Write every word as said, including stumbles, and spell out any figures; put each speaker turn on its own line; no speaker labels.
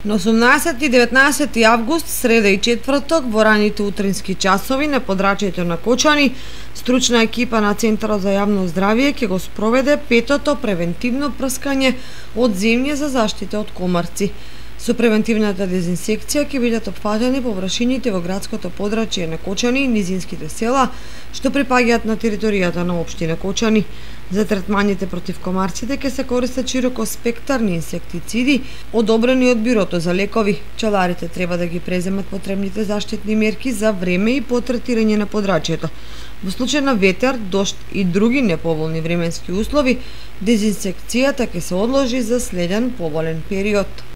На осумнаесети и деветнаесети август, среда и четврток, во раните утрински часови на подрачјето на Кочани, стручна екипа на Центарот за јавно здравје ќе го спроведе петото превентивно прскање од земје за заштита од комарци. Со превентивната дезинсекција ќе бидат опфатени површините во градското подрачје на Кочани и низинските села што припаѓаат на територијата на општина Кочани. За третманите против комарците ќе се користат широко спектарни инсектициди одобрени од Бирото за лекови. Пчеларите треба да ги преземат потребните заштитни мерки за време и по третирање на подрачјето. Во случај на ветер, дожд и други неповолни временски услови, дезинсекцијата ќе се одложи за следен поволен период.